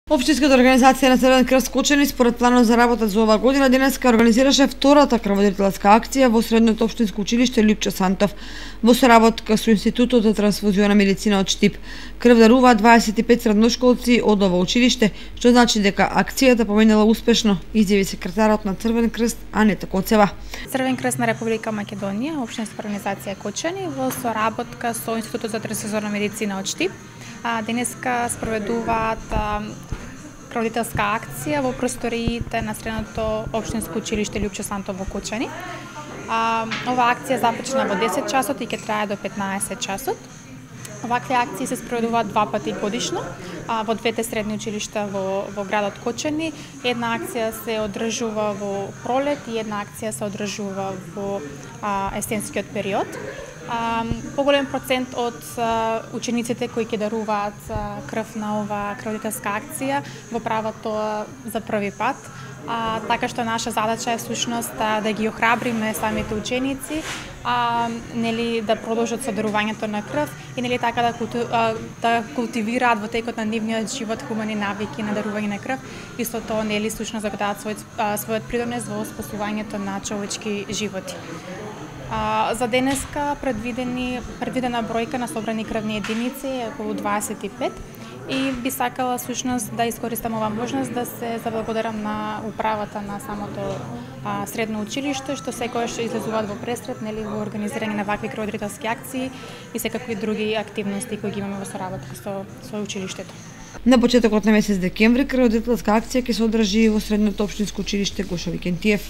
Општинската организација на Црвен крст Кочани според планот за работа за оваа година денеска организираше втората крводарителска акција во Средното општинско училиште Лјупчо Сантов во соработка со Институтот за трансфузиона медицина од Штип. Крв даруваат 25 средношколци од ова училиште, што значи дека акцијата поминала успешно, изјави секретарот на Црвен крст Анета Коцева. Црвен крст на Република Македонија, општинска организација Кочани во соработка со Институтот за трансфузиона медицина од Штип денеска спроведуваат крводарителска акција во просториите на Средното општинско училиште Лјупчо Сантов во Кочани. Оваа акција започна во 10 часот и ќе трае до 15 часот. Овакви акции се спроведуваат два пати годишно во двете средни училишта во градот Кочани. Една акција се одржува во пролет и една акција се одржува во есенскиот период. Поголем процент од учениците кои ќе даруваат крв на оваа крводарителска акција го прават тоа за први пат. Така што наша задача е всушност да ги охрабриме самите ученици, да продолжат со дарувањето на крв и така да култивираат во текот на нивниот живот хумани навики на дарување на крв и со тоа всушност да го дадат својот придонес во спасувањето на човечки животи. За денеска предвидена бројка на собрани крвни единици е околу 25 и би сакала всушност да искористам оваа можност да се заблагодарам на управата на самото средно училиште што секогаш излезуваат во пресред во организирање на вакви крводарителски акции и секакви други активности кои ги имаме во соработка со училиштето. На почетокот на месец декември крводарителска акција ќе се одржи во Средното општинско училиште Гошо Викентиев.